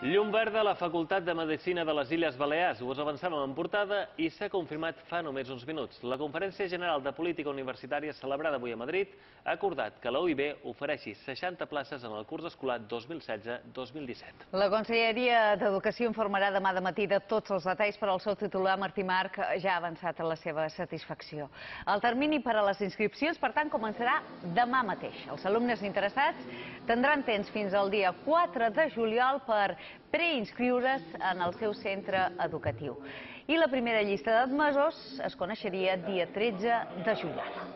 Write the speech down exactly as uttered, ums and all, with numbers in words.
Llum verda a la Facultat de Medicina de les Illes Balears. Us avançàvem en portada i s'ha confirmat fa només uns minuts. La Conferència General de Política Universitària, celebrada avui a Madrid, ha acordat que la U I B ofereixi seixanta places en el curs escolar dos mil setze dos mil disset. La Conselleria d'Educació informarà demà de matí de tots els detalls, però el seu titular, Martí Marc, ja ha avançat a la seva satisfacció. El termini per a les inscripcions, per tant, començarà demà mateix. Els alumnes interessats tindran temps fins al dia quatre de juliol per preinscriure's en el seu centre educatiu. I la primera llista d'admesos es coneixeria dia tretze de juliol.